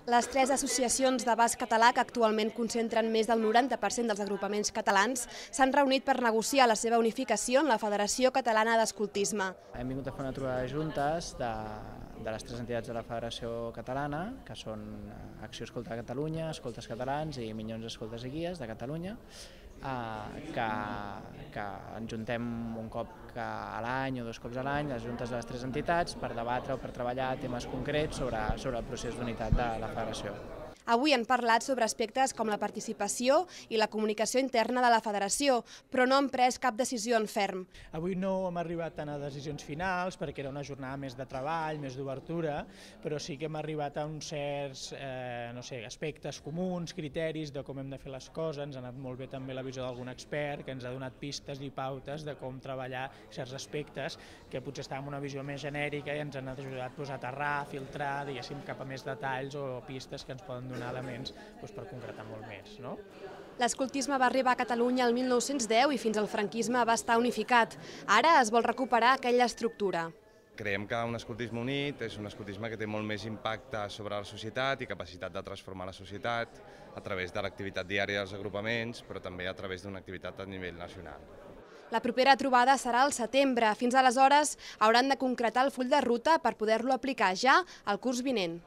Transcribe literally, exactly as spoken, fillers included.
Les tres associacions de basc català, que actualment concentren més del noranta per cent dels agrupaments catalans, s'han reunit per negociar la seva unificació en la Federació Catalana d'Escoltisme. Hem vingut a fer una trobada de juntes de, de les tres entitats de la Federació Catalana, que són Acció Escolta Catalunya, Escoltes Catalans i Minyons Escoltes i Guies de Catalunya, eh, que, que ens juntem un cop a l'any o dos cops a l'any, les juntes de les tres entitats, per debatre o per treballar temes concrets sobre, sobre el procés d'unitat de la Federació. Avui han parlat sobre aspectes com la participació i la comunicació interna de la Federació, però no han pres cap decisió en ferm. Avui no hem arribat tant a decisions finals perquè era una jornada més de treball, més d'obertura, però sí que hem arribat a uns certs eh, no sé, aspectes comuns, criteris de com hem de fer les coses. Ens ha anat molt bé també la visió d'algun expert que ens ha donat pistes i pautes de com treballar certs aspectes que potser estàvem en una visió més genèrica i ens han ajudat a aterrar, a filtrar, diguéssim, cap a més detalls o pistes que ens poden donar elements doncs, per concretar molt més. No? L'escoltisme va arribar a Catalunya el mil nou-cents deu i fins al franquisme va estar unificat. Ara es vol recuperar aquella estructura. Creiem que un escoltisme unit és un escoltisme que té molt més impacte sobre la societat i capacitat de transformar la societat a través de l'activitat diària dels agrupaments, però també a través d'una activitat a nivell nacional. La propera trobada serà al setembre. Fins aleshores hauran de concretar el full de ruta per poder-lo aplicar ja al curs vinent.